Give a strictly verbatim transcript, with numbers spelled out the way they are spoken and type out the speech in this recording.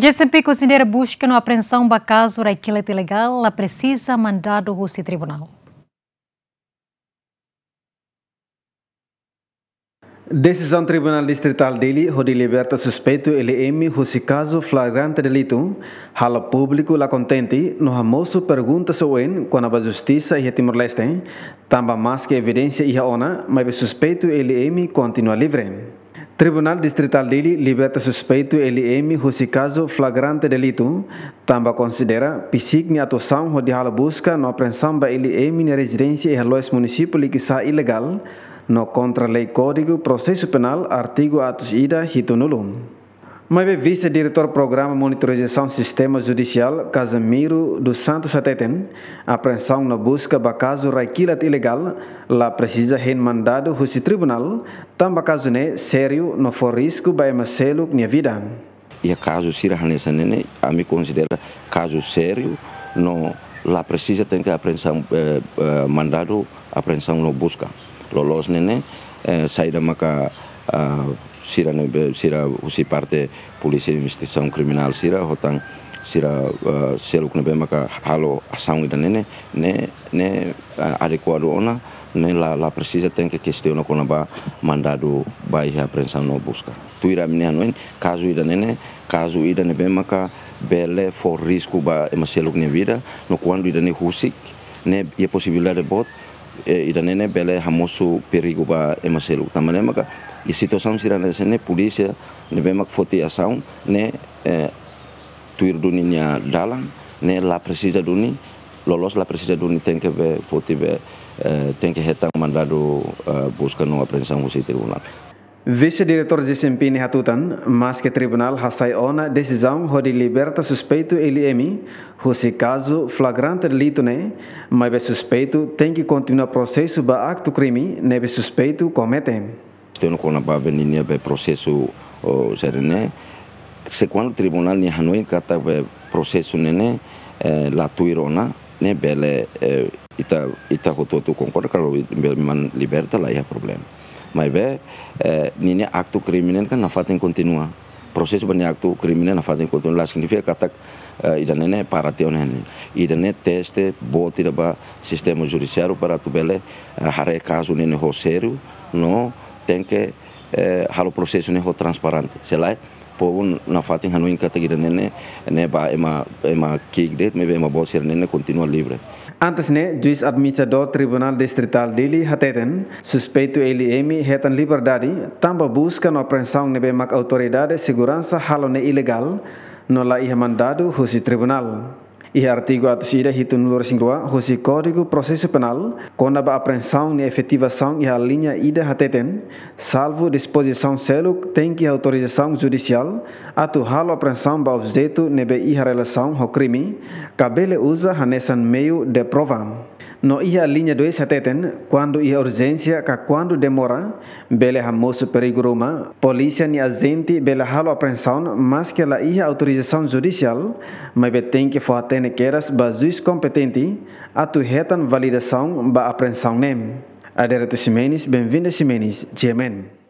G S M P konsidera buska no apreensaun ba kazu rai-kilat ilegál la presiza mandadu husi tribunál. Desizaun Tribunál Distritál Dili hodi liberta suspeitu L M husi kazu flagrante delitu halo públiku la kontente no hamosu perguntas oioin kona-ba justisa iha Timor-Leste, tanba maske evidénsia iha ona, maibé suspeitu L M kontinua livre. Tribunál Distritál Dili liberta suspeitu L M husi kazu flagrante delitu, tanba konsidera PCIC nia atuasaun hodi halo buska no apreensaun ba L M nia rezidénsia iha loos munisípiu Likisá ilegál, no kontra lei Kódigu Prosesu Penál, artigu atus ida hitunulu. Maibé Vise-Diretór Programa Monitorizasaun Sistema Judisiál, Casimiro dos Santos hateten, apreensaun no buska ba kazu rai-kilat ilegál la presiza hein mandadu husi tribunál, tanba kazu ne'e sériu no fó risku ba ema seluk nia vida. Iha kazu sira hanesan ne'e ne'e, ami konsidera kazu sériu, no la presiza tenke apreensaun, eh, eh, mandadu apreensaun no buska. Loloos ne'e ne'e, eh, saida maka, ah, sira ne'ebé, sira husi parte polísia investigasaun kriminál sira, ho tan sira, ah, seluk ne'ebé maka halo asaun ida-ne'e ne'e, ne'e, ne'e, ah, adekuadu ona, ne'e la, la presiza tenke kestiona kona-ba mandadu ba iha apreensaun no buska. Tuir ami-nia hanoin, kazu ida-ne'e ne'e, kazu ida ne'ebé maka bele fó risku ba ema seluk nia vida, no kuandu ida-ne'e husik, ne'e iha posibilidade boot, eh, ida-ne'e ne'e bele hamosu perigu ba ema seluk. Tanba ne'e maka, iha situasaun sira hanesan ne'e polísia ne'ebé mak foti asaun ne'e, eh, tuir duni nia dalan, ne'e la presiza duni, loloos la presiza duni tenke be foti be, eh, tenke hetan mandadu, eh, buska no apreensaun husi tribunál. Vise-Diretór G S M P ne'e hatutan, maske tribunál hasai ona desizaun hodi liberta suspeitu L M husi kazu flagrante delitu ne'e, maibé suspeitu tenke kontinua prosesu ba aktu krime ne'ebé suspeitu komete. Kestiona kona-ba be ninia be prosesu, o, sira-ne'e, se kuandu tribunál nia hanoin katak be prosesu ne'e ne'e, eh, la tuir ona, ne'e bele, eh, ita, ita hotu-hotu konkorda, kalau bele mak liberta la iha problema. Maibé, eh, ninia aktu krime ne'e kan nafatin kontinua. Prosesu ba nia aktu krime ne'e nafatin kontinua, la signifika katak, eh, ida-ne'e ne'e para tiha ona ne'e. Ida-ne'e teste boot ida ba sistema judisiáriu para atu bele, eh, haree kazu ne'e ne'e ho sériu, no tenke, eh, halo prosesu ne'e ho transparente. Se lae, povu nafatin hanoin katak ida-ne'e ne'e, ne'e ba ema, ema ki'ik de'it, maibé ema boot sira-ne'e ne'e kontinua livre. Antes ne'e, Juís Administradór Tribunál Distritál Dili hateten, suspeitu L M hetan liberdade, tanba buska no apreensaun ne'ebé mak autoridade seguransa halo ne'e ilegál, no la iha mandadu husi tribunál. Iha artigu atus ida hitunulu-resin-rua husi Kódigu Prosesu Penál, kona-ba apreensaun nia efetivasaun iha alínea ida hateten, salvu dispozisaun seluk tenke iha autorizasaun judisiál atu halo apreensaun ba objetu ne'ebé iha relasaun ho krime, ka bele uza hanesan meiu de prova. No iha alínea dois hateten, kuandu iha urjénsia ka kuandu demora, bele hamosu perigu ruma, polísia nia ajente bele halo apreensaun maske la iha autorizasaun judisiál, maibé tenke fó-hatene kedas ba juís kompetente atu hetan validasaun ba apreensaun ne'e. Adérito Ximenes, Benvinda Ximenes, G M N.